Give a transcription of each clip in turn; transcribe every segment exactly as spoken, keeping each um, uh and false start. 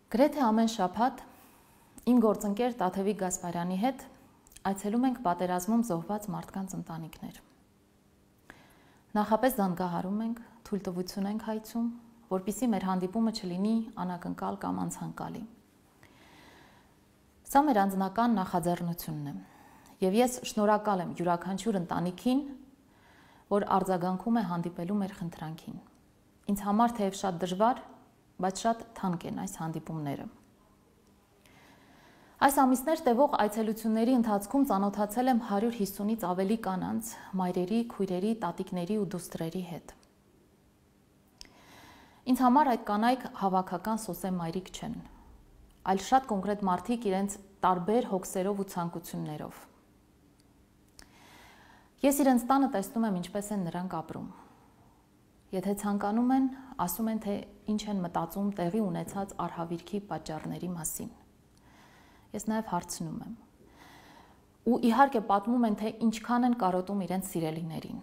Գրեթե ամեն շաբաթ իմ գործընկեր Տաթևիկ Գասպարյանի հետ այցելում ենք պատերազմում զոհված մարդկանց ընտանիքներ։ Նախապես զանգահարում ենք, թույլտվություն ենք հայցում, որպեսզի մեր հանդիպումը չլինի անակնկալ կամ անցանկալի։ Սա մեր անձնական նախաձեռնությունն է, եւ ես շնորհակալ եմ յուրաքանչյուր ընտանիքին, որ արձագանքում է հանդիպելու մեր խնդրանքին։ Ինձ համար թեև շատ դժվար, բայց շատ թանկ են այս հանդիպումները։ Այս ամիսներ տևող այցելությունների ընթացքում ծանոթացել եմ հարյուր հիսունից ավելի կանանց, մայրերի, քույրերի, տատիկների ու դուստրերի հետ։ Ինձ համար այդ կանայք հավաքական սոսե մայրիկ չեն, այլ շատ կոնկրետ մարդիկ իրենց տարբեր հոգսերով ու ցանկություններով։ Ես իրենց տանը տեսնում եմ ինչպես են նրանք ապրում։ Եթե ցանկանում են, ասում են, թե ինչ են մտածում տեղի ունեցած արհավիրքի պատճառների մասին։ Ես նաև հարցնում եմ։ Ու իհարկե պատմում են, թե ինչքան են կարոտում իրենց սիրելիներին։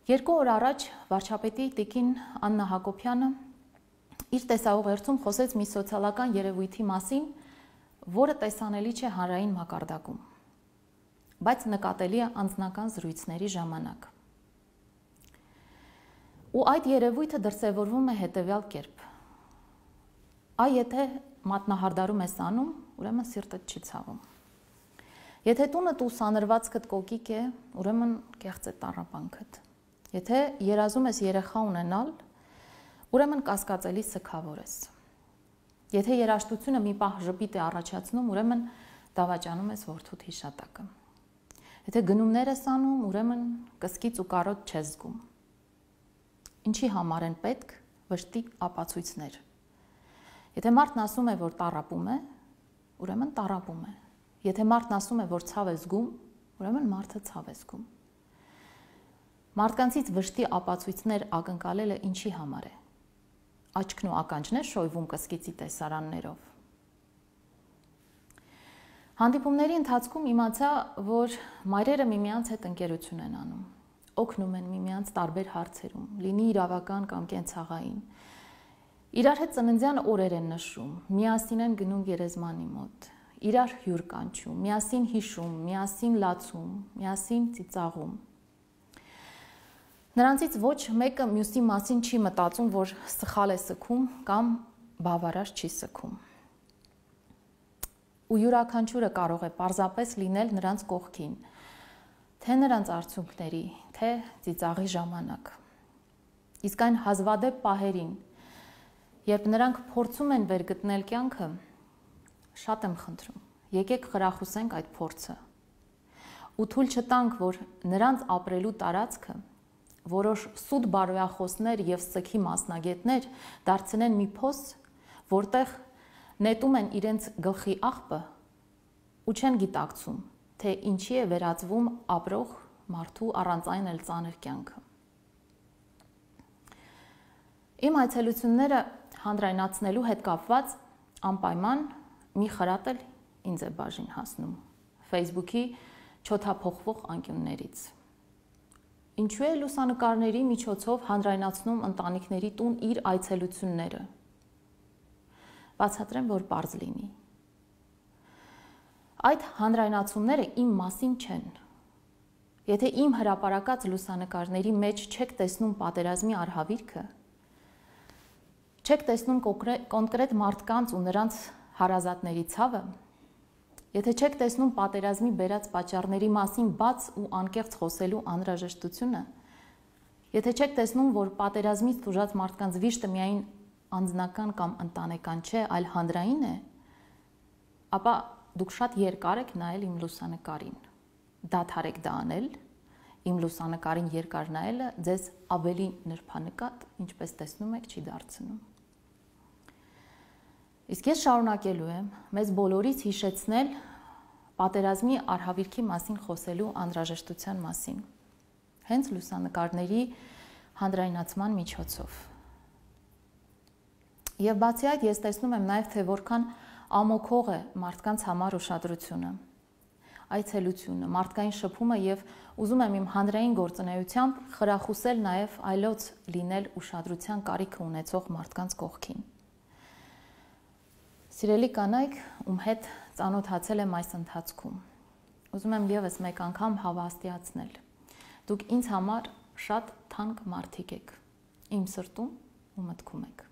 Երկու օր առաջ վարչապետի տիկին Աննա Հակոբյանը իր տեսահողերցում խոսեց մի սոցիալական երևույթի մասին, որը տեսանելի չէ հանրային մակարդակում, բայց նկատելի է անձնական զրույցների ժամանակ։ Ու այդ երևույթը դրսևորվում է հետևյալ կերպ. այ եթե մատնահարդարում ես անում, ուրեմն սիրտդ չի ցավում։ Եթե տունդ ու սանրվածքդ կոկիկ է, ուրեմն կեղծ է տառապանքդ։ Եթե երազում ես երեխա ունենալ, ուրեմն կասկածելի սգավոր ես։ Եթե երաժշտությունը մի պահ ժպիտ է առաջացնում, ուրեմն դավաճանում ես որդուդ հիշատակը։ Եթե գնումներ ես անում, ուրեմն կսկից ու կարոտ չես զգում։ Ինչի համար են պետք վշտի ապացույցներ։ Եթե մարդն ասում է, որ տառապում է, ուրեմն տառապում է։ Եթե մարդն ասում է, որ ցավ է զգում, ուրեմն մարդը ցավ է զգում։ Մարդկանցից վշտի ապացույցներ ակնկալելը ինչի համար է։ Աչքն ու ականջն է շոյվում կսկիծի տեսարաններով։ Հանդիպումների ընթացքում իմացա, որ մայրերը միմյանց հետ ընկերություն են անում, օգնում են միմյանց տարբեր հարցերում, լինի իրավական կամ կենցաղային։ Իրար հետ ծննդյան օրեր են նշում, միասին են գնում գերեզմանի մոտ, իրար հյուր կանչում, միասին հիշում, միասին լացում, միասին ծիծաղում։ Նրանցից ոչ մեկը մյուսի մասին չի մտածում, որ սխալ է սգում կամ բավարար չի սգում։ Ու յուրաքանչյուրը կարող է պարզապես լինել նրանց կողքին, թե նրանց արդյունքների, թե ծիծաղի ժամանակ։ Իսկ այն հազվադեպ պահերին, երբ նրանք փորձում են վերգտնել կյանքը, շատ եմ խնդրում, եկեք խրախուսենք այդ փորձը ու թույլ չտանք, որ նրանց ապրելու տարածքը որոշ սուտ բարոյախոսներ եւ սգի մասնագետներ դարձնեն մի փոս, որտեղ նետում են իրենց գլխի աղբը ու չեն գիտակցում, թե ինչի է վերածվում ապրող մարդու առանց այն էլ ծանր կյանքը։ Իմ այցելությունները հանրայնացնելու հետ կապված անպայման մի խրատ էլ ինձ է բաժին հասնում Facebook-ի չոթափողվող անկյուններից։ Ինչու է լուսանկարների միջոցով հանրայնացնում ընտանիքների տուն իր այցելությունները։ Բացատրեմ, որ պարզ լինի։ Այդ հանրայնացումները իմ մասին չեն։ Եթե իմ հրապարակած լուսանկարների մեջ չեք տեսնում պատերազմի արհավիրքը, չեք տեսնում կոնկրետ մարդկանց ու նրանց հարազատների ցավը, եթե չեք տեսնում պատերազմի բերած պատճառների մասին բաց ու անկեղծ խոսելու անհրաժեշտությունը, եթե չեք տեսնում, որ պատերազմից տուժած մարդկանց վիշտը միայն անձնական կամ ընտանեկան չէ, այլ հանրային է, ապա դուք շատ երկար եք նայել իմ լուսանկարին։ Դադարեք դա անել, իմ լուսանկարին երկար նայելը ձեզ ավելի նրբանկատ, ինչպես տեսնում եք, չի դարձնում։ Իսկ ես շարունակելու եմ մեզ բոլորից հիշեցնել պատերազմի արհավիրքի մասին խոսելու անհրաժեշտության մասին, հենց լուսանկարների հանրայնացման միջոցով։ Եվ բացի այդ ես տեսնում եմ նաև, թե որքան ամոքող է մարդկանց համար ուշադրությունը, այցելությունը, մարդկային շփումը եւ ուզում եմ իմ հանրային գործունեությամբ խրախուսել նաև այլոց լինել ուշադրության կարիքը ունեցող մարդկանց կողքին։ Սիրելի կանայք, ում հետ ծանոթացել եմ այս ընթացքում, ուզում եմ ևս մեկ անգամ հավաստիացնել. դուք ինձ համար շատ թանկ մարդիկ եք, իմ սրտում ու մտքում եք։